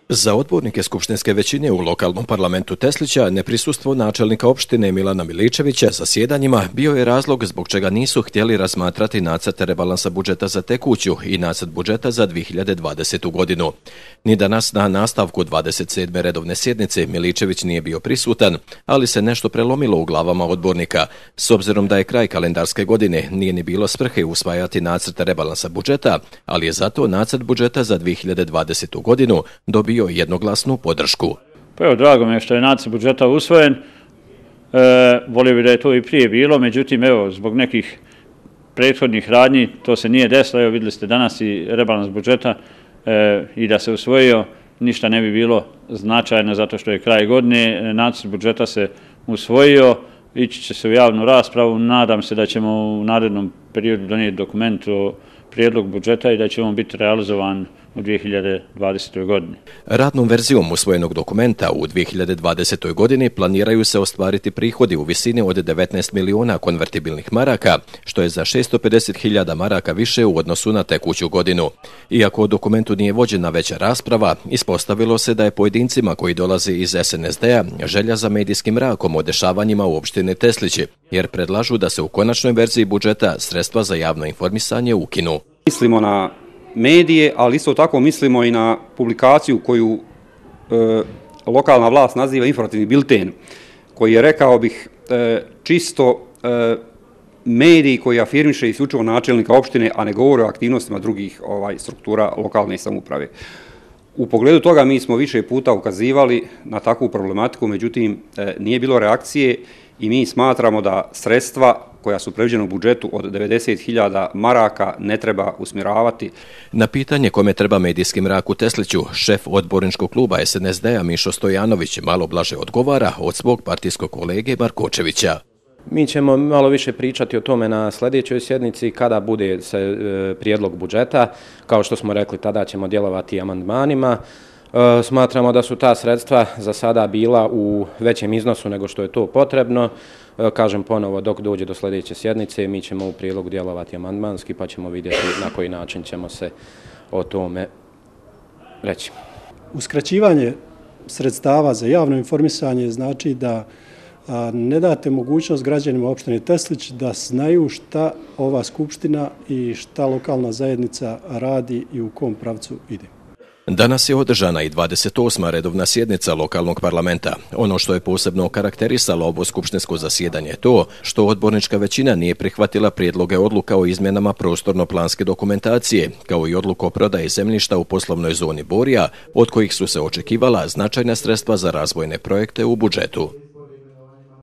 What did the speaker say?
Za odbornike skupštinske većine u lokalnom parlamentu Teslića neprisustvo načelnika opštine Milana Miličevića zasjedanjima bio je razlog zbog čega nisu htjeli razmatrati nacrt rebalansa budžeta za tekuću i nacrt budžeta za 2020. godinu. Ni danas na nastavku 27. redovne sjednice Miličević nije bio prisutan, ali se nešto prelomilo u glavama odbornika. S obzirom da je kraj kalendarske godine, nije ni bilo svrhe usvajati nacrt rebalansa budžeta, ali je zato nacrt budžeta za 2020. godinu dobio jednoglasnu podršku. Pa evo, drago mi je što je nacrt budžeta usvojen. Volio bih da je to i prije bilo, međutim, evo, zbog nekih prethodnih radnji to se nije desilo. Evo, vidjeli ste danas i rebalans budžeta i da se usvojio, ništa ne bi bilo značajno zato što je kraj godine. Nacrt budžeta se usvojio, ići će se u javnu raspravu. Nadam se da ćemo u narednom periodu donijeti dokument o prijedlog budžeta i da će on biti realizovan u 2020. godini. Radnom verzijom usvojenog dokumenta u 2020. godini planiraju se ostvariti prihodi u visini od 19 miliona konvertibilnih maraka, što je za 650.000 maraka više u odnosu na tekuću godinu. Iako o dokumentu nije vođena veća rasprava, ispostavilo se da je pojedincima koji dolaze iz SNSD-a želja za medijskim mrakom o dešavanjima u opštini Teslići, jer predlažu da se u konačnoj verziji budžeta sredstva za javno informisanje ukinu. Mislimo na medije, ali isto tako mislimo i na publikaciju koju lokalna vlast naziva informativni bilten, koji je, rekao bih, čisto mediji koji afirmiše isključivo načelnika opštine, a ne govore o aktivnostima drugih struktura lokalne samouprave. U pogledu toga mi smo više puta ukazivali na takvu problematiku, međutim nije bilo reakcije i mi smatramo da sredstva koja su predviđena u budžetu od 90.000 maraka ne treba usmjeravati. Na pitanje kome treba medijski mrak u Tesliću, šef odborničkog kluba SNSD-a Mišo Stojanović malo blaže odgovara od svog partijskog kolege Markočevića. Mi ćemo malo više pričati o tome na sljedećoj sjednici kada bude prijedlog budžeta. Kao što smo rekli, tada ćemo djelovati amandmanima. Smatramo da su ta sredstva za sada bila u većem iznosu nego što je to potrebno. Kažem ponovo, dok dođe do sljedeće sjednice, mi ćemo u prijedlogu djelovati amandmanski, pa ćemo vidjeti na koji način ćemo se o tome reći. Uskraćivanje sredstava za javno informisanje znači da ne date mogućnost građanima opštine Teslić da znaju šta ova skupština i šta lokalna zajednica radi i u kom pravcu ide. Danas je održana i 28. redovna sjednica lokalnog parlamenta. Ono što je posebno karakterisalo ovo skupštinsko zasjedanje je to što odbornička većina nije prihvatila prijedloge odluka o izmjenama prostorno-planske dokumentacije, kao i odluku o prodaji zemljišta u poslovnoj zoni Borija, od kojih su se očekivala značajna sredstva za razvojne projekte u budžetu.